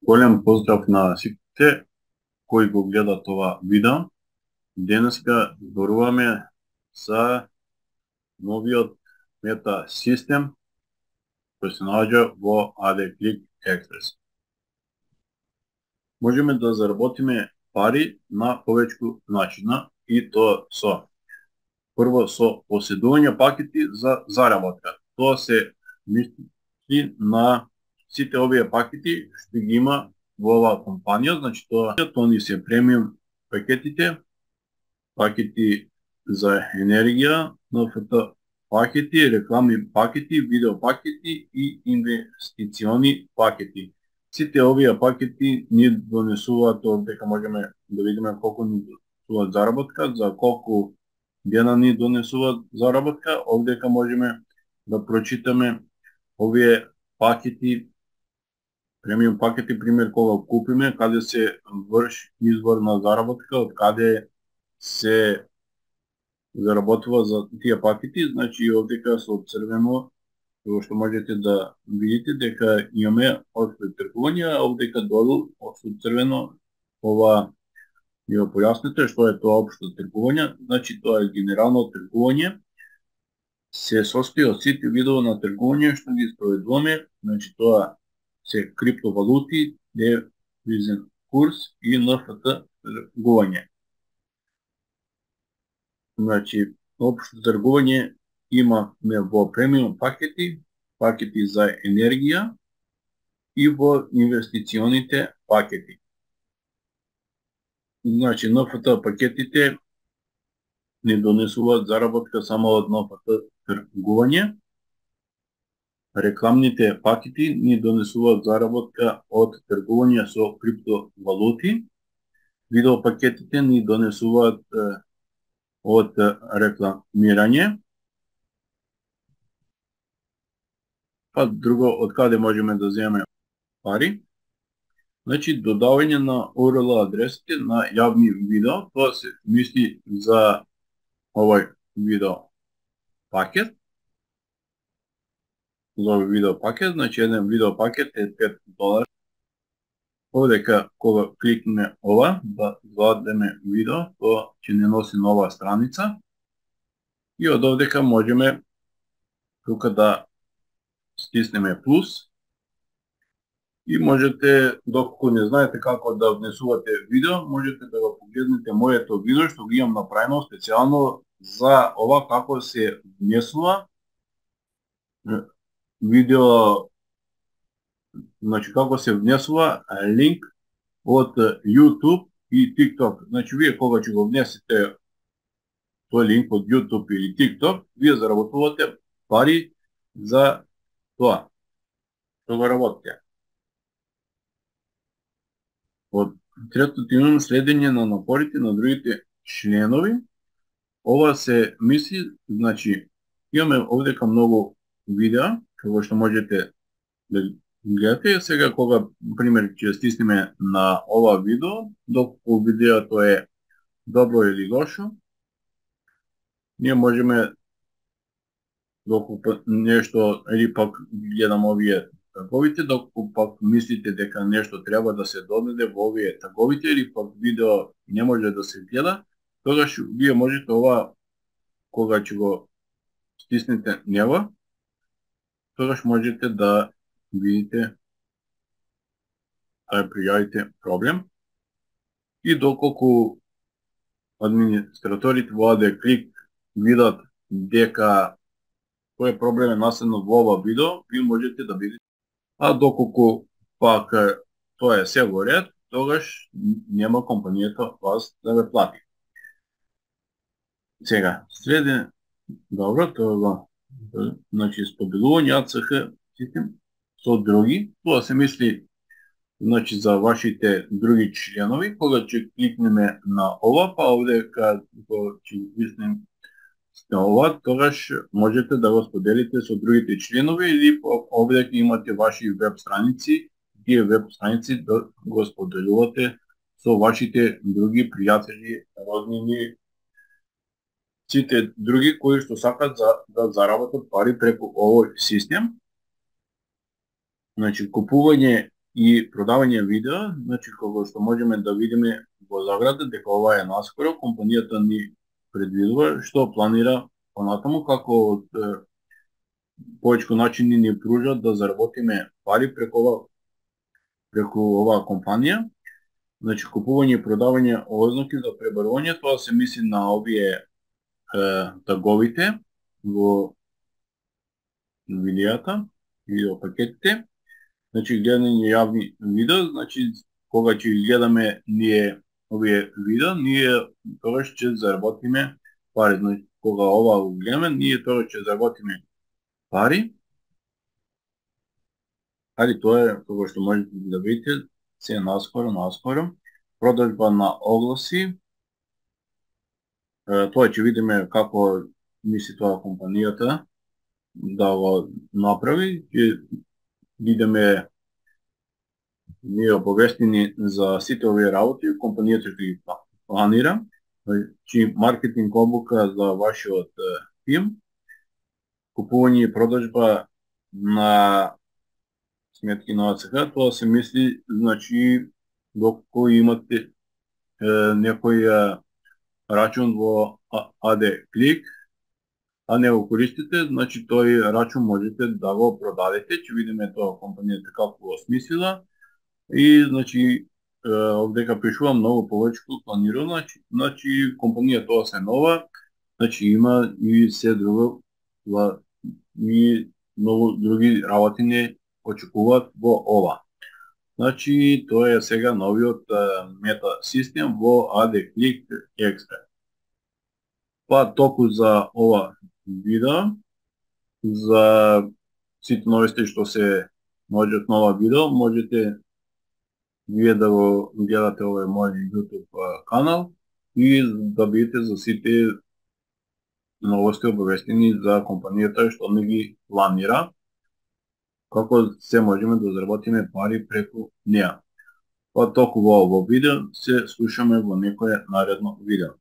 Голем поздрав на сите кои го гледат ова видео. Денеска зборуваме за новиот мета систем кој се наоѓа во AD Click Express. Можеме да заработиме пари на повеќку начина и тоа со прво со поседување пакети за заработка. Тоа се мисли на сите овие пакети што ги има во оваа компанија, значи тоа ни се премиум пакетите, пакети за енергија, NFT пакети, рекламни пакети, видео пакети и инвестициони пакети. Сите овие пакети ни донесуваат, дека можеме да видиме колку ни донесуваат заработка, за колку дена ни донесуваат заработка. Овдека можеме да прочитаме овие пакети, премиум пакети, пример кога купиме, каде се врши извор на заработка, од каде се заработува за тие пакети. Значи овдека со црвено, што можете да видите дека имаме општо тргување, а овдека долу со црвено ова ни го појасните што е тоа општо тргување. Значи тоа е генерално тргување, се состои од сите видови на тргување што ги спроведуваме. Значи тоа се криптовалути, девизен курс и NFT тргување. Значи, општо тргување имаме во премиум пакети, пакети за енергија и во инвестиционите пакети. Значи, NFT пакетите не донесуваат заработка само од NFT тргување. Рекламните пакети ни донесуваат заработка од тргување со криптовалути. Видео пакетите ни донесуваат од рекламирање. Па друго, од каде можеме да земеме пари? Значи, додавање на URL адресите на јавни видео, тоа се мисли за овој видео пакет. За овој видео пакет, значи еден видео пакет е $5. Овдека кога кликнеме ова, да зададеме видео, тоа ќе не носи нова страница. И од овдека можеме тука да стиснеме плюс. И можете, доколку не знаете како да внесувате видео, можете да го погледнете моето видео што ги имам направено специјално за ова како се внесува видео, значи како се внесува линк од YouTube и TikTok. Значи вие кога ќе го внесете тој линк од YouTube или TikTok, вие заработувате пари за тоа што го работите. Од третото имам следење на напорите на другите членови. Ова се мисли, значи имаме овдека многу видеа како што можете да гледате. Сега кога, пример, ќе стиснеме на ова видео, доколку видеото е добро или лошо, ние можеме, доколку нешто, или пак гледам овие таговите, доколку пак мислите дека нешто треба да се додаде во овие таговите, или пак видео не може да се гледа, тогаш вие можете ова, кога ќе го стиснете него, тогаш можете да видите, да пријавите проблем. И доколку администраторите во AD Click видат дека тој проблем е наследно во ова видео, ви можете да видите. А доколку пак тоа е се во ред, тогаш нема компанијата вас да ве плати. Сега, следен, добро, тоа значи споделување ACH систем со други, тоа се мисли, значи за вашите други членови. Кога ќе кликнеме на ова, па овдека ќе кликнеме на ова, тогаш можете да го споделите со другите членови, или овдека имате ваши веб страници, тие веб страници да го споделувате со вашите други пријатели, роднини, сите други кои што сакат да заработат пари преку овој систем. Значи, купување и продавање видео, значи кога што можеме да видиме во заграда дека ова е наскоро, компанијата ни предвидува што планира понатаму, како од повеќе начини ни пружат да заработиме пари преку оваа компанија. Значи, купување и продавање ознаки за пребарување, тоа се мисли на овие таговите во видеата, видеопакетите. Значи, гледање јавни видео, значи, кога ќе гледаме ние овие видео, ние тогаш ќе заработиме пари. Значи, кога ова го гледаме, ние тогаш ќе заработиме пари. Али тоа е кога што можете да видите, се наскоро. Продажба на огласи. Тоа ќе видиме како мисли тоа компанијата да го направи. Ќе видиме ние обавестени за сите овие работи, компанијата ќе ги планира. Значи, маркетинг обука за вашиот тим, купување и продажба на сметки на АЦХ, тоа се мисли, значи, доколку имате некој рачун во AD Click, а не го користите, значи тој рачун можете да го продадете, ќе видиме тоа компанијата како го смислила и значи овдека пишува многу повеќе планирано, значи компанија тоа се нова, значи има и се друго и многу други работи не очекуваат во ова. Значи, тоа е сега новиот мета систем во AD Click Expert. Па толку за ова видео, за сите новисти што се наоѓаат нова видео, можете вие да го гледате овој мој YouTube канал и да бидете за сите новости обавестени за компанијата што не ги планира, како се можеме да заработиме пари преку неа. Па толку во ово видео, се слушаме во некое наредно видео.